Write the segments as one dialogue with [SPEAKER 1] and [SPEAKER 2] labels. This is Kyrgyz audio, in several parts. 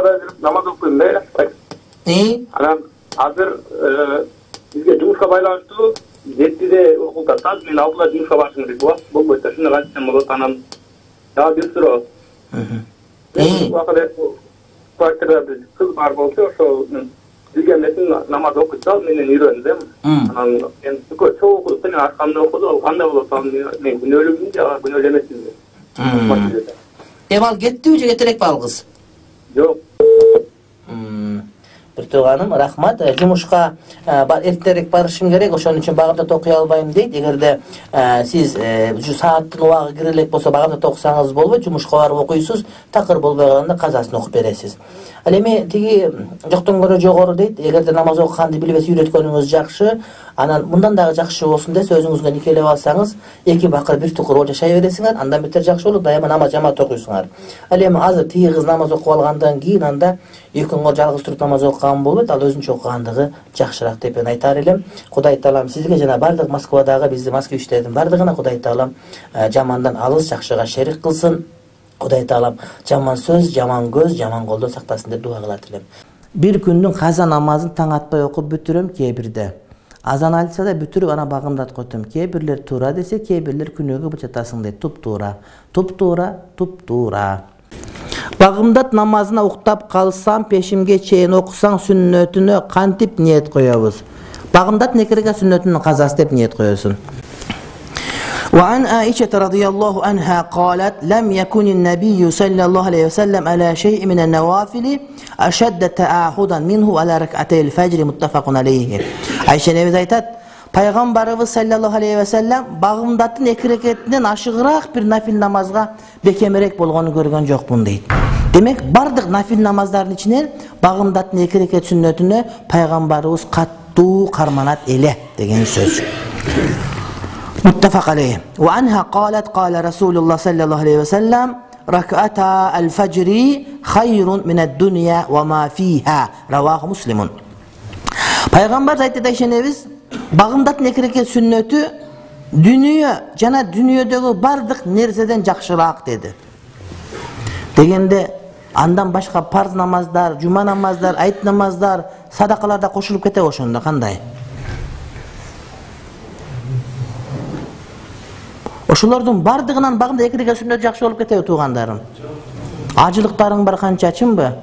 [SPEAKER 1] бара жүрүп намаз окуйм да, анан азыр бизге жумушка байланыштуу 7-де окулуп атат. Мен 6-да жумушка барышым керек. Убакыт болбойт да, шундый кантсем болот. Анан дагы бир суроо. Квартирада бир кыз бар болчу, ошо бизге эмесин намаз окуйсал менен үйрөндүм. Анан мен чогуу окудук, менин аркамда окуду. Ал кандай болот? Мен күнөөлүүмүн же күнөөлүү эмесминби?
[SPEAKER 2] Ал кеттиби же кетерекпи ал кыз?
[SPEAKER 1] Жок.
[SPEAKER 2] Бир тууганым, рахмат. Жумушка эртерээк барышым керек, ошон үчүн багымдат окуй албайм дейт. Эгерде сиз сааттын убагы кире элек болсо багымдат окусаңыз болбойт, жумушка барып окуйсуз, такыр болбой калганда казасын окуп бересиз. Ал эми тиги жоктон көрө жогору дейт. Эгерде намаз окуганды билбес үйрөткөнүңүз жакшы, анан мындан дагы жакшы болсун десе өзүңүзгө никелеп алсаңыз, 2 бакыр бир тукур болуп жашай бересиңер, андан бетер жакшы болот, дайыма намаз жамаат окуйсуңар. Ал эми азыр тиги кыз намаз окуп алгандан кийин анда экөөңөр жалгыз туруп намаз окуган болбойт, ал өзүнчө окугандыгы жакшыраак деп мен айтар элем. Кудай таалам сизге жана бардык Москвадагы бизди москвичтердин бардыгына Кудай таалам жамандан алыс жакшыга шерик кылсын. Кудай таалам жаман сөз, жаман көз, жаман колдон сактасын деп дуа кылат элем. Бир күндүн каза намазын таң атпай окуп бүтүрөм, кээ бирде азан айтса да бүтүрүп ана багымдат койтум. Кээ бирлер туура десе, кээ бирлер күнөөгө бычатасың дейт. Туп-туура, туп-туура, туп-туура. Багымдат намазына уктап калсам, пешимге чейин окусаң сүннөтүнө кантип ниет коебуз? Багымдат некереге сүннөтүнүн казасы деп ниет коесуң. وعن عائشة رضي الله عنها قالت لم يكن النبي صلى الله عليه وسلم على شيء من النوافل أشد تعاهدا منه على ركعتي الفجر متفق عليه. Айша небез айтат, пайгамбарыбыз саллаллаху алейхи ва саллям багымдаттын 2 рекетинен ашыгыраак бир нафил намазга бекемирээк болгонун көргөн жокмун дейт. Демек бардык нафил намаздардын ичинен багымдаттын 2 рекет сүннөтүнө пайгамбарыбыз каттуу карманат эле деген сөз. متفق عليه. وعنها قالت قال رسول الله صلى الله عليه وسلم ركعتا الفجر خير من الدنيا وما فيها رواه مسلم. Пайгамбар айтты ишенебиз, багымдаттын 2 рекет сүннөтү дүнүйө жана дүнүйөдөгү бардык нерседен жакшыраак деди. Дегенде андан башка парз намаздар, жума намаздар, айт намаздар, садакалар да кошулуп кетеби ошондо кандай? Ошолордун бардыгынан багымда 2 рекет сүннөт жакшы болуп кетеби туугандарым? Ажылыктарың бар канча, чынбы?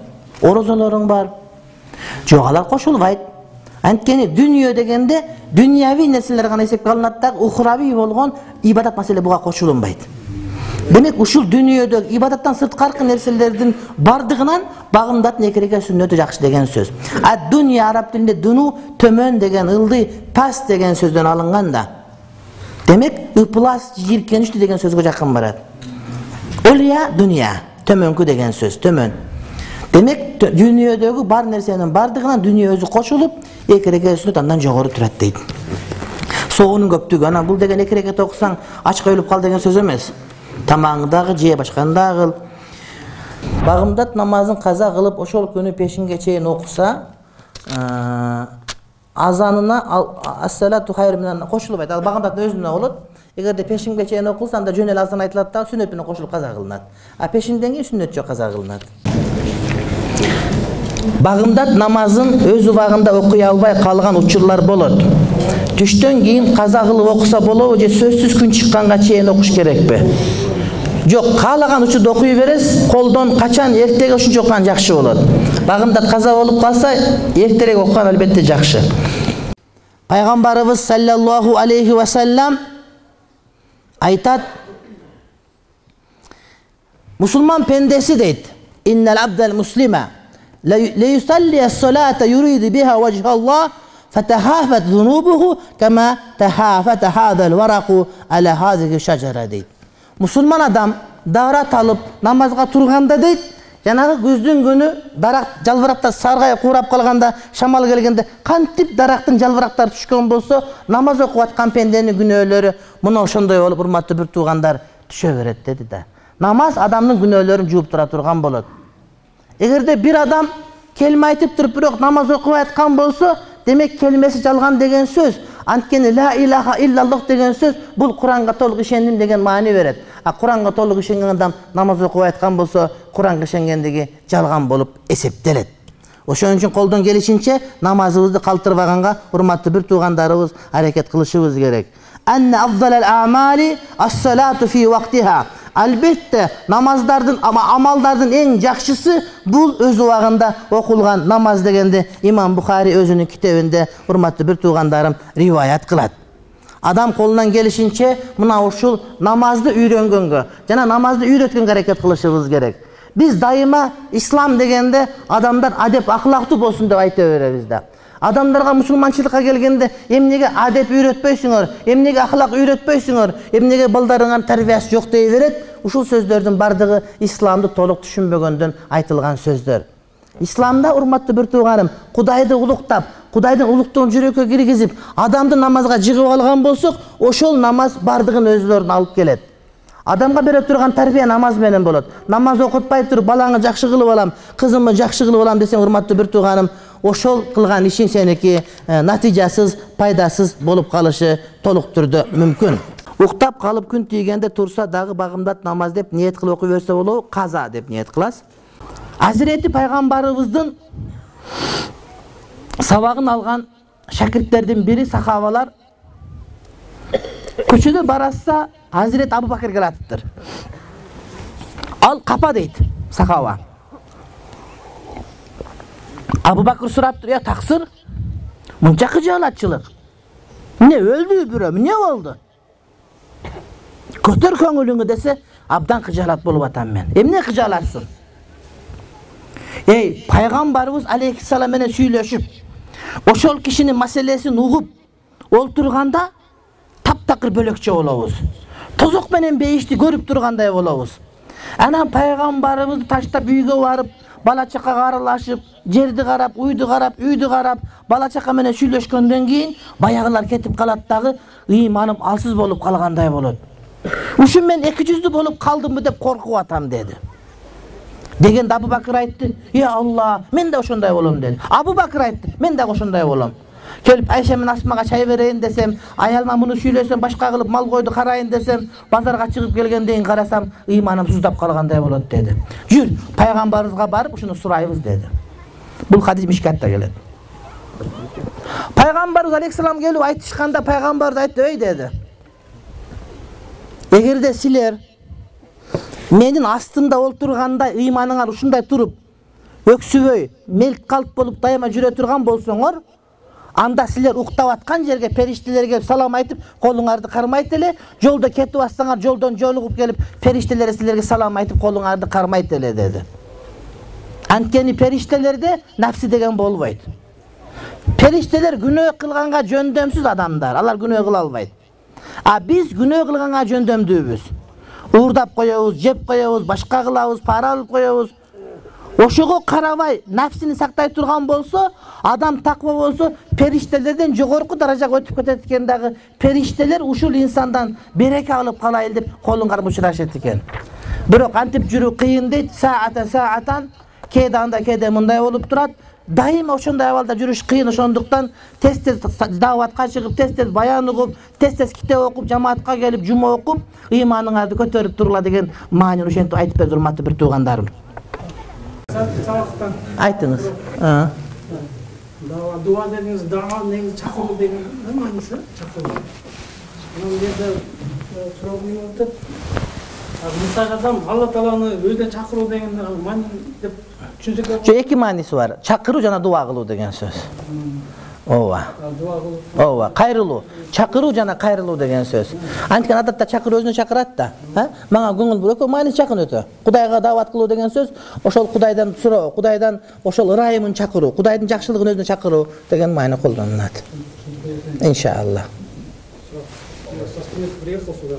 [SPEAKER 2] Орозолоруң бар? Жок, алар кошулбайт. Анткени дүнүйө дегенде дүнияви нерселер гана эсепке алынат да, ухрави болгон ибадат маселе буга кошулунбайт. Демек ушул дүнүйөдөгү ибадаттан сырткаркы нерселердин бардыгынан багымдаттын 2 рекет сүннөтү жакшы деген сөз. Дүнүйө араб тилинде дуну төмөн деген, ылдый, пас деген сөздөн алынган да. Демек ыплас, жиркеничти деген сөзгө жакын барат. Улия дүнүйө, төмөнкү деген сөз, төмөн. Демек дүнүйөдөгү бар нерсенин бардыгынан дүнүйө өзү кошулуп 2 рекет сүннөт андан жогору турат дейт. Соонун көптүгү, ана бул деген 2 рекет окусаң ачка өлүп кал деген сөз эмес. Тамагыңды дагы же, башканы дагы кыл. Багымдат намазын каза кылып ошол күнү пешинге чейин окуса, азанына ассалату хайр менен кошулбайт. Ал багымдаттын өзүнө болот. Эгерде пешимге чейин окулса, анда жөн эле азан айтылат да, сүннөт менен кошулуп каза кылынат. Пешимден кийин сүннөт жок каза кылынат. Багымдат намазын өз убагында окуй албай калган учурлар болот. Түштөн кийин каза кылып окуса болобу же сөзсүз күн чыкканга чейин окуш керекпи? Жок, каалаган учурда окуй бересиз, колдон качан эртеге ушунча окуган жакшы болот. Багымдат каза болуп калса, эртерээк окуган албетте жакшы. Пайгамбарыбыз саллаллаху алейхи ва саллям айтат, мусулман пендеси дейт, иннал абдал муслима ла юсалли ас-салата юриду биха вajha Allah fatahafat dhunubuhu kama tahafata hadha al-waraqu ala hadhihi ash-shajara дейт. Мусулман адам дарат алып намазга турганда дейт, жанагы күздүн күнү дарак жалбырактар саргайып куурап калганда, шамал келгенде кантип дарактын жалбырактары түшкөн болсо, намаз окуп аткан пенденин күнөөлөрү мына ошондой болуп, урматтуу бир туугандар, түшө берет деди да. Намаз адамдын күнөөлөрүн жууп тура турган болот. Эгерде бир адам келме айтып туруп бирок намаз окубай аткан болсо, демек келмеси жалган деген сөз. Анткени ла илаха иллаллах деген сөз бул Куранга толук ишендим деген маани берет. А Куранга толук ишенген адам намаз окуп айткан болсо, Куранга ишенгендиги жалган болуп эсептелет. Ошон үчүн колдон келишинче намазыбызды калтырбаганга урматтуу бир туугандарыбыз аракет кылышыбыз керек. Анна афдалал а'мали ас-салату фи вактиха. Албетте намаздардын амалдардын эң жакшысы бул өз убагында окулган намаз дегенди Имам Бухари өзүнүн китебинде урматтуу бир туугандарым риваят кылат. Адам колунан келишинче мына ушул намазды үйрөнгөнгө жана намазды үйрөткөнгө аракет кылышыбыз керек. Биз дайыма ислам дегенде адамдар адеп ахлактуу болсун деп айта беребиз да. Адамдарга мусулманчылыкка келгенде эмнеге адеп үйрөтпөйсүңөр, эмнеге ахлак үйрөтпөйсүңөр, эмнеге балдарыңардын тарбиясы жок дей берет. Ушул сөздөрдүн бардыгы исламды толук түшүнбөгөндөн айтылган сөздөр. Исламда урматтуу бир тууганым, Кудайды улуктап, Кудайдын улуктугун жүрөккө киргизип, адамды намазга жыгып алган болсок, ошол намаз бардыгын өзүлөрүн алып келет. Адамга бере турган тарбия намаз менен болот. Намаз окутпай туруп балаңы жакшы кылып алам, кызымды жакшы кылып алам десең, урматтуу бир тууганым, ошол кылган ишиң сеники натыйжасыз, пайдасыз болуп калышы толук түрдө мүмкүн. Уктап калып күн тийгенде турса дагы багымдат намаз деп ниет кылып окуй берсе болобу? Каза деп ниет кыласыз. Азирети пайгамбарыбыздын сабагын алган шакирттердин бири сахабалар көчөдө баратса Hazreti Abu Bakr gelatıptır. Al kapa deydi sahaba. Abu Bakr suraptır ya taksır. Munca kıcalatçılık. Ne öldü bürüm, ne oldu? Kötür köngülüngü dese abdan kıcalat bolup atan men. Emne kıcalatsın? Peygamberimiz aleyhisselam menen süйлөшүp, oşol kişinin meselesini ugup olturganda taptakır bölökçe olabız. Tozok menen beyişti görüp turganday bolabız. Anam peygamberimiz taştap uyga barıp, bala çakaga aralashıp, жерди карап, uydu карап, үйдү карап, bala çaka menen süйлөшкөндөн кийин баягылар кетип калат дагы, ыйманым алсыз болуп калгандай болот. Ушун мен 200 болуп калдымбы деп коркуп атам dedi. Degende Abu Bakr aytты, "Ya Allah, men de ошондой болом" dedi. Abu Bakr aytты, "Men de ошондой болом." Келип Айша мен Асмага чай берейин десем, аялма муну сүйлөсөм, башка кылып мал койду карайын десем, базарга чыгып келгенден карасам, ыйманым суздап калгандай болот dedi. Жүр, пайгамбарыбызга барып ушуну сурайбыз dedi. Бул хадис Мишкатта келет. Пайгамбарыбыз алейхиссалам келип айтышканда пайгамбарыбыз айтты, "Ey" dedi. Эгерде силер менин астымда олтурганда ыйманыңар ушундай туруп, өксүбөй, мелк калп болуп дайыма жүрө турган болсоңор, анда силер уктап аткан жерге периштелер келип салам айтып, колуңарды кармайт эле, жолдо кетип атсаңар, жолдон жолугуп келип, периштелер силерге салам айтып, колуңарды кармайт эле dedi. Анткени периштелерде нафси деген болбойт. Периштелер күнөө кылганга жөндөмсүз адамдар, алар күнөө кыла албайт. А биз күнөө кылганга жөндөмдүүбүз. Уурдап коебуз, жеп коебуз, башка кылабыз, пара алып коебуз. Ошого карабай, нафсини сактай турган болсо, адам таква болсо, периштелерден жогорку даражага өтүп кетет экен дагы. Периштелер ушул инсандан береке алып калайын деп колун кармап учурашат экен. Бирок антип жүрүү кыйын дейт, саатан, кээде андай, кээде мындай болуп турат. Дайыма ошондой абалда жүрүш кыйын, ошондуктан тез-тез дааватка чыгып, тез-тез баян угуп, тез-тез китеп окуп, жамаатка келип, жума окуп, ыйманыңарды көтөрүп тургула деген маанини ошентип айтып берди урматтуу бир туугандарым. Айтыңыз.
[SPEAKER 3] Дуа дегениңиз, даа негизи чакыруу деген мааниси, чакыруу. Анан жерде сурагым өтөт. Мисалы адам Алла Тааланы өзүнө чакыруу деген маани деп түшүнсөк.
[SPEAKER 2] Жо эки мааниси бар. Чакыруу жана дуа кылуу деген сөз. Ооба.
[SPEAKER 3] Дуа кылуу.
[SPEAKER 2] Ооба, кайрылуу. Чакыруу жана кайрылуу деген сөз. Анткени адатта чакыруу өзүнө чакырат да. Мага көңүл бурөкө мааниси жакын өтө. Кудайга даават кылуу деген сөз, ошол Кудайдан суроо, Кудайдан ошол ырайымын чакыруу, Кудайдын жакшылыгын өзүнө чакыруу деген маани колдонулат. Иншаллах.
[SPEAKER 3] Приехал сюда.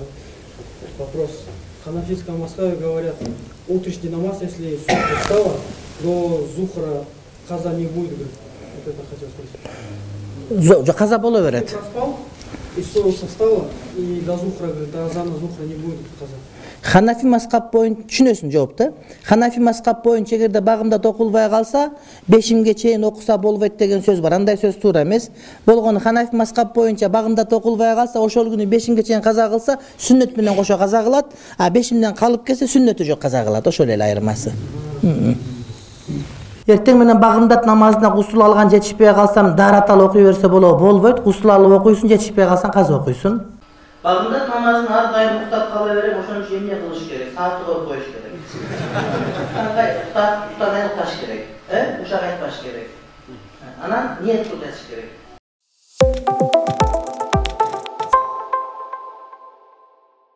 [SPEAKER 3] Вопрос. В ханафитском мазхабе говорят, утренний намаз, если солнце встало, до зухра каза не будет. Вот это хотел спросить.
[SPEAKER 2] Каза боло берет.
[SPEAKER 3] Проспал, из своего состава и до зухра, до азана зухра не будет отказа.
[SPEAKER 2] Ханафи мазхаб боюнча түшүнөсүң жоопты. Ханафи мазхаб боюнча эгерде багымда окулбай калса, 5-ге чейин окуса болбойт деген сөз бар. Андай сөз туура эмес. Болгону Ханафи мазхаб боюнча багымда окулбай калса, ошол күнү 5-ге чейин каза кылса, сүннөт менен кошо каза кылат, а 5-ден калып келсе сүннөтү жок каза кылат. Ошол эле айырмасы. Эртең менен багымдат намазына гусул алган жетишпей калсам, даратал окуй берсе болбойт. Гусул алып окуйсуң, жетишпей калсаң каза окуйсуң. Багымдат намазын ар дайым уктап кала берем, ошон үчүн эмне кылыш керек? Саатты коюп коюш керек. Кандай уктап уктабай калыш керек. Ушак айтпаш керек. Анан ниет кылып жатыш керек.